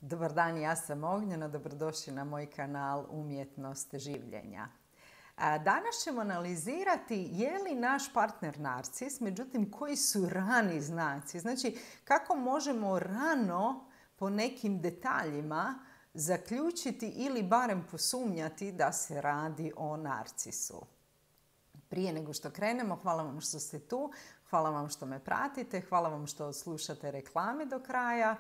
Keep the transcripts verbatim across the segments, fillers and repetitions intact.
Dobar dan, ja sam Ognjena, dobrodošli na moj kanal Umjetnost življenja. Danas ćemo analizirati je li naš partner narcis, međutim koji su rani znaci. Znači kako možemo rano po nekim detaljima zaključiti ili barem posumnjati da se radi o narcisu. Prije nego što krenemo, hvala vam što ste tu, hvala vam što me pratite, hvala vam što slušate reklame do kraja,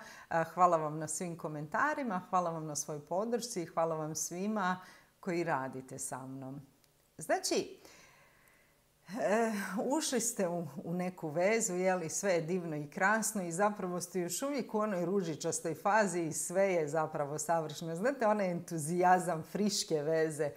hvala vam na svim komentarima, hvala vam na svojoj podršci i hvala vam svima koji radite sa mnom. Znači, ušli ste u, u neku vezu, jeli, sve je divno i krasno i zapravo ste još uvijek u onoj ružičastoj fazi i sve je zapravo savršeno. Znate, onaj entuzijazam friške veze.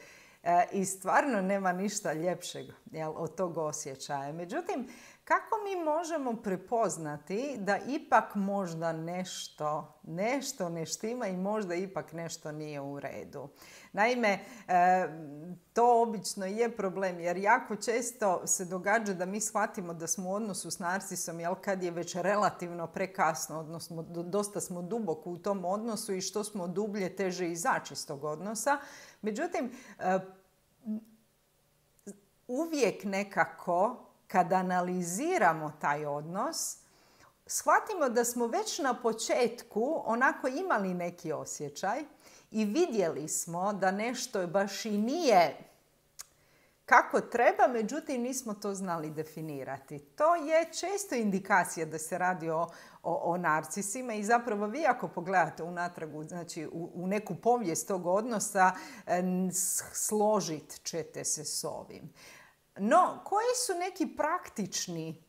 I stvarno nema ništa ljepšeg, jel, od tog osjećaja. Međutim, kako mi možemo prepoznati da ipak možda nešto, nešto ne štima i možda ipak nešto nije u redu? Naime, to obično je problem jer jako često se događa da mi shvatimo da smo u odnosu s narcisom, jel, kad je već relativno prekasno, odnosno dosta smo duboko u tom odnosu i što smo dublje teže izaći iz tog odnosa. Međutim, uvijek nekako kada analiziramo taj odnos, shvatimo da smo već na početku onako imali neki osjećaj i vidjeli smo da nešto baš i nije kako treba, međutim nismo to znali definirati. To je često indikacija da se radi o, o, o narcisima i zapravo vi ako pogledate unatrag, znači u, u neku povijest tog odnosa, složit ćete se s ovim. No, koji su neki praktični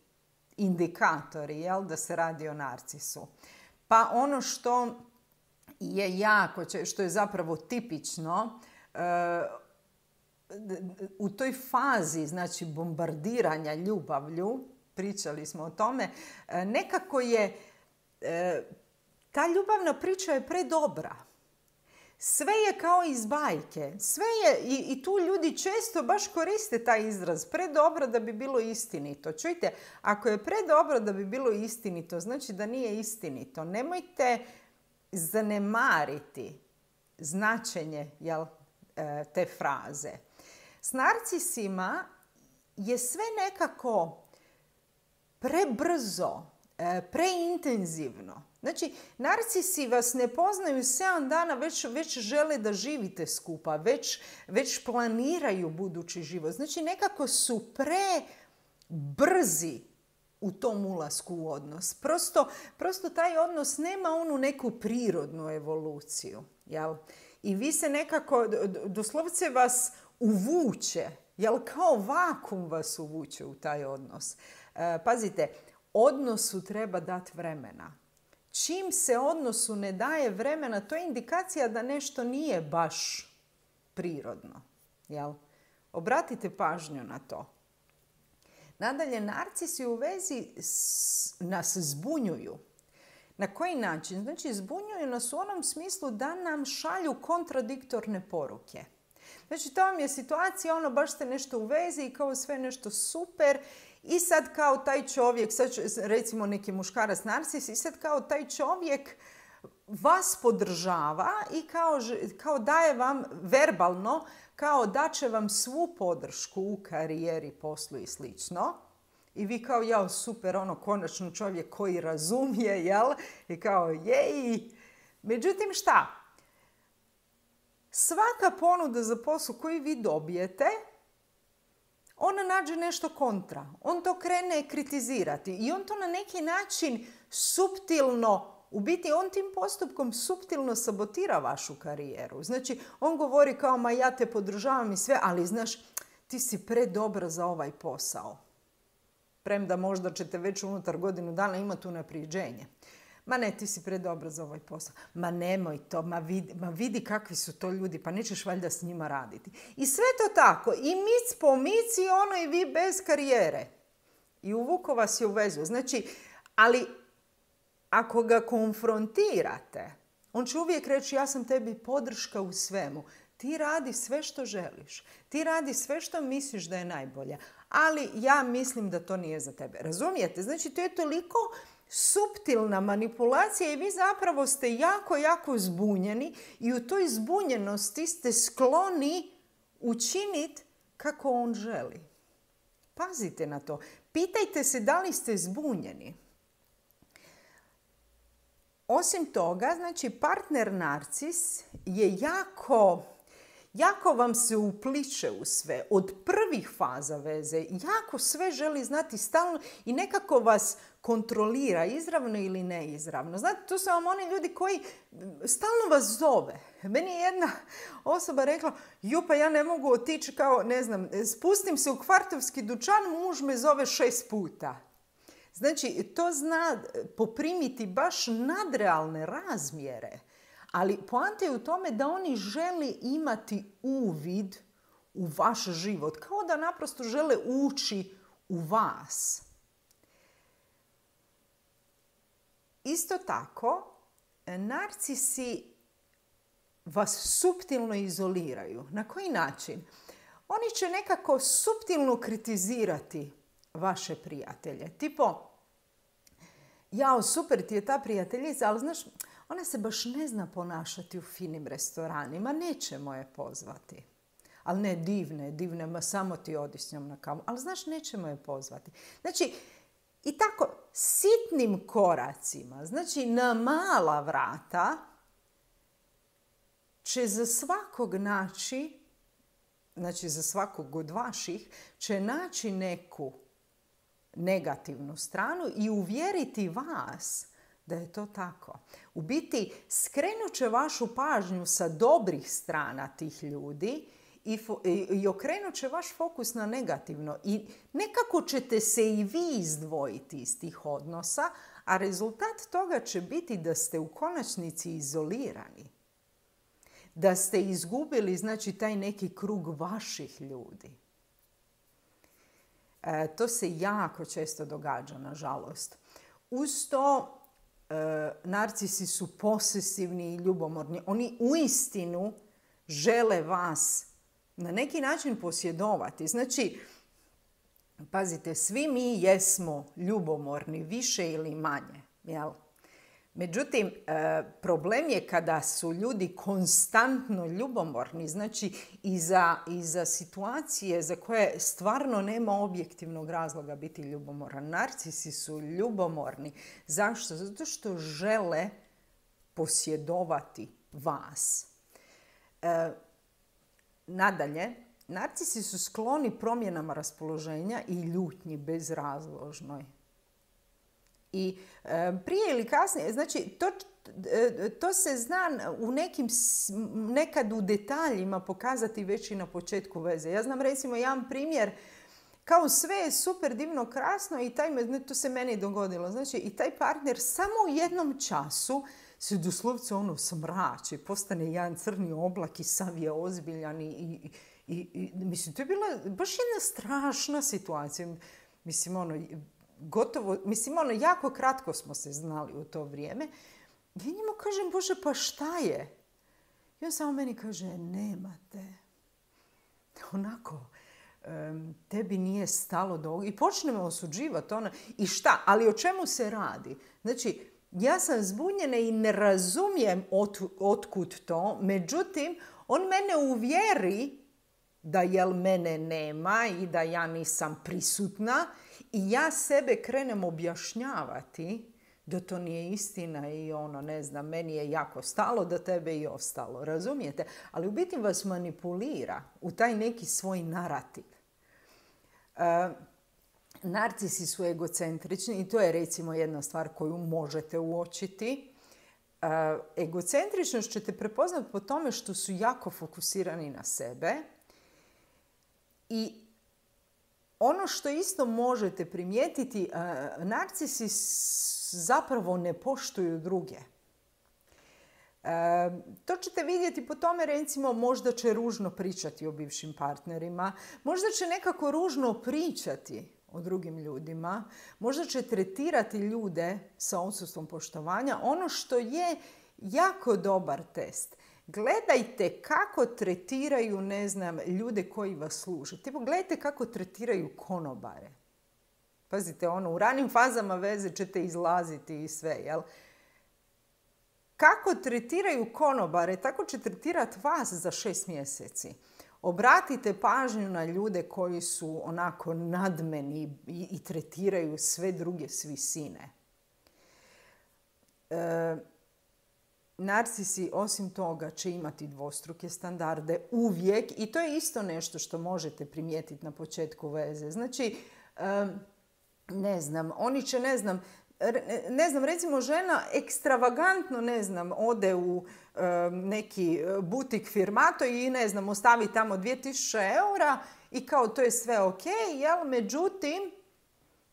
indikatori, jel, da se radi o narcisu? Pa ono što je jako, što je zapravo tipično, u toj fazi, znači, bombardiranja ljubavlju, pričali smo o tome, nekako je, ta ljubavna priča je predobra. Sve je kao iz bajke. Sve je, i, i tu ljudi često baš koriste taj izraz, predobro da bi bilo istinito. Čujte, ako je predobro da bi bilo istinito, znači da nije istinito. Nemojte zanemariti značenje, jel, te fraze. S narcisima je sve nekako prebrzo, preintenzivno. Znači, narcisi vas ne poznaju sedam dana, već, već žele da živite skupa, već, već planiraju budući život. Znači, nekako su prebrzi u tom ulasku u odnos. Prosto, prosto taj odnos nema onu neku prirodnu evoluciju, jel? I vi se nekako, doslovce vas uvuče, jel, kao vakum vas uvuče u taj odnos. E, pazite, odnosu treba dati vremena. Čim se odnosu ne daje vremena, to je indikacija da nešto nije baš prirodno, jel? Obratite pažnju na to. Nadalje, narcisi u vezi s, nas zbunjuju. Na koji način? Znači, zbunjuju nas u onom smislu da nam šalju kontradiktorne poruke. Znači, to vam je situacija, ono, baš ste nešto u vezi i kao sve nešto super i sad kao taj čovjek, sad recimo neki muškarac narcis, i sad kao taj čovjek vas podržava i kao, kao daje vam verbalno, kao da će vam svu podršku u karijeri, poslu i slično. I vi kao, jao, super, ono, konačno čovjek koji razumije, jel? I kao, jej. Međutim, šta? Svaka ponuda za posao koju vi dobijete, ona nađe nešto kontra. On to krene kritizirati i on to na neki način suptilno, u biti on tim postupkom suptilno sabotira vašu karijeru. Znači, on govori kao, ma ja te podržavam i sve, ali znaš, ti si predobra za ovaj posao. Premda možda ćete već unutar godinu dana imati unaprijeđenje. Ma ne, ti si predobra za ovaj posao. Ma nemoj to, ma vidi, ma vidi kakvi su to ljudi, pa nećeš valjda s njima raditi. I sve to tako, i mic po mic i ono i vi bez karijere. I uvuko vas je u vezu. Znači, ali ako ga konfrontirate, on će uvijek reći, ja sam tebi podrška u svemu. Ti radi sve što želiš. Ti radi sve što misliš da je najbolje. Ali ja mislim da to nije za tebe. Razumijete? Znači, to je toliko suptilna manipulacija i vi zapravo ste jako, jako zbunjeni i u toj zbunjenosti ste skloni učiniti kako on želi. Pazite na to. Pitajte se da li ste zbunjeni. Osim toga, znači partner narcis je jako, jako vam se upliče u sve. Od prvih faza veze jako sve želi znati stalno i nekako vas kontrolira, izravno ili neizravno. Znate, to su vam oni ljudi koji stalno vas zove. Meni je jedna osoba rekla, ju pa ja ne mogu otići kao, ne znam, spustim se u kvartovski dućan, muž me zove šest puta. Znači, to zna poprimiti baš nadrealne razmjere. Ali poanta je u tome da oni žele imati uvid u vaš život. Kao da naprosto žele ući u vas. Isto tako, narcisi vas suptilno izoliraju. Na koji način? Oni će nekako suptilno kritizirati vaše prijatelje. Tipo, jao, super ti je ta prijateljica, ali znaš, ona se baš ne zna ponašati u finim restoranima, nećemo je pozvati. Ali ne, divne, divne, ma samo ti odi s njom na kavu. Ali znaš, nećemo je pozvati. Znači, i tako, sitnim koracima, znači na mala vrata, će za svakog naći, znači za svakog od vaših, će naći neku negativnu stranu i uvjeriti vas da je to tako. U biti, skrenut će vašu pažnju sa dobrih strana tih ljudi i, i okrenut će vaš fokus na negativno. I nekako ćete se i vi izdvojiti iz tih odnosa, a rezultat toga će biti da ste u konačnici izolirani. Da ste izgubili, znači, taj neki krug vaših ljudi. E, to se jako često događa, nažalost. Uz to, e, narcisi su posesivni i ljubomorni. Oni uistinu žele vas na neki način posjedovati. Znači, pazite, svi mi jesmo ljubomorni, više ili manje, jel? Međutim, problem je kada su ljudi konstantno ljubomorni, znači i za, i za situacije za koje stvarno nema objektivnog razloga biti ljubomoran. Narcisi su ljubomorni. Zašto? Zato što žele posjedovati vas. E, nadalje, narcisi su skloni promjenama raspoloženja i ljutnji bezrazložnoj. I e, prije ili kasnije, znači to, e, to se zna u nekim, nekad u detaljima pokazati već i na početku veze. Ja znam recimo jedan primjer, kao sve je super divno krasno i taj, to se meni dogodilo. Znači i taj partner samo u jednom času se doslovce ono smrači, postane jedan crni oblak i sav je ozbiljan i, i, i, i mislim, to je bila baš jedna strašna situacija. Mislim, ono, gotovo, mislim, ono, jako kratko smo se znali u to vrijeme. Ja njemu kažem, Bože, pa šta je? I on samo meni kaže, nemate. Onako, um, tebi nije stalo do ovoga. I počnemo osuđivati ono. I šta? Ali o čemu se radi? Znači, ja sam zbunjena i ne razumijem ot, otkud to. Međutim, on mene uvjeri da jel mene nema i da ja nisam prisutna. I ja sebe krenem objašnjavati da to nije istina i ono, ne znam, meni je jako stalo da tebe i ostalo, razumijete? Ali u biti vas manipulira u taj neki svoj narativ. E, narcisi su egocentrični i to je recimo jedna stvar koju možete uočiti. E, egocentričnost ćete prepoznati po tome što su jako fokusirani na sebe i ono što isto možete primijetiti, narcisi zapravo ne poštuju druge. To ćete vidjeti po tome, recimo, možda će ružno pričati o bivšim partnerima, možda će nekako ružno pričati o drugim ljudima, možda će tretirati ljude sa odsustvom poštovanja. Ono što je jako dobar test. Gledajte kako tretiraju, ne znam, ljude koji vas služe. Tipo, gledajte kako tretiraju konobare. Pazite, ono, u ranim fazama veze ćete izlaziti i sve, jel? Kako tretiraju konobare, tako će tretirati vas za šest mjeseci. Obratite pažnju na ljude koji su onako nadmeni i, i tretiraju sve druge s visine. E, narcisi osim toga će imati dvostruke standarde uvijek i to je isto nešto što možete primijetiti na početku veze. Znači, e, ne znam, oni će, ne znam, ne znam, recimo žena ekstravagantno, ne znam, ode u e, neki butik firmato i, ne znam, ostavi tamo dvije tisuće eura i kao to je sve ok, jel? Međutim,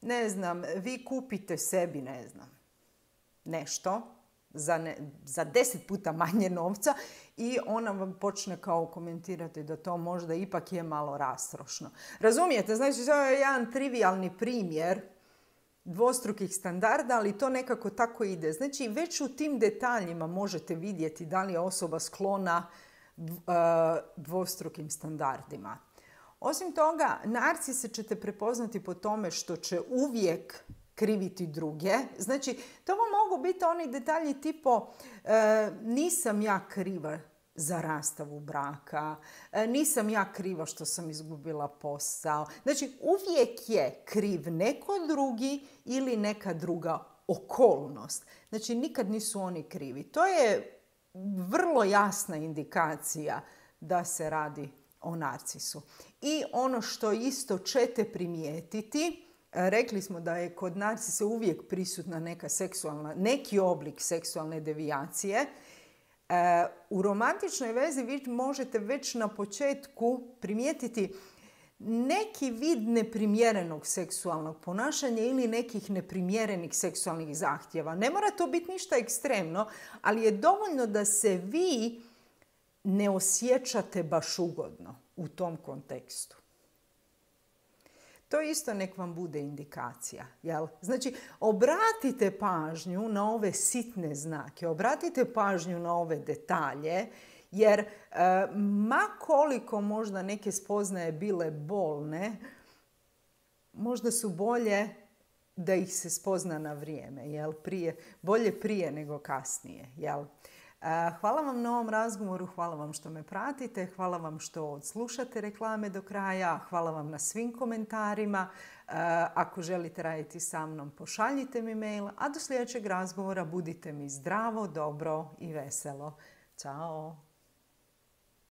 ne znam, vi kupite sebi, ne znam, nešto za, ne, za deset puta manje novca i ona vam počne kao komentirati da to možda ipak je malo rastrošno. Razumijete? Znači, to je jedan trivijalni primjer dvostrukih standarda, ali to nekako tako ide. Znači, već u tim detaljima možete vidjeti da li je osoba sklona dvostrukim standardima. Osim toga, narcise ćete prepoznati po tome što će uvijek kriviti druge. Znači, to vam mogu biti oni detalji tipo e, nisam ja kriva za rastavu braka, e, nisam ja kriva što sam izgubila posao. Znači, uvijek je kriv neko drugi ili neka druga okolnost. Znači, nikad nisu oni krivi. To je vrlo jasna indikacija da se radi o narcisu. I ono što isto ćete primijetiti, rekli smo da je kod narcisa uvijek prisutna neka seksualna, neki oblik seksualne devijacije. U romantičnoj vezi vi možete već na početku primijetiti neki vid neprimjerenog seksualnog ponašanja ili nekih neprimjerenih seksualnih zahtjeva. Ne mora to biti ništa ekstremno, ali je dovoljno da se vi ne osjećate baš ugodno u tom kontekstu. To isto nek vam bude indikacija. Jel? Znači, obratite pažnju na ove sitne znake, obratite pažnju na ove detalje, jer e, ma koliko možda neke spoznaje bile bolne, možda su bolje da ih se spozna na vrijeme. Jel? Prije, bolje prije nego kasnije. Jel? Hvala vam na ovom razgovoru, hvala vam što me pratite, hvala vam što odslušate reklame do kraja, hvala vam na svim komentarima. Ako želite raditi sa mnom, pošaljite mi mail, a do sljedećeg razgovora budite mi zdravo, dobro i veselo. Ćao!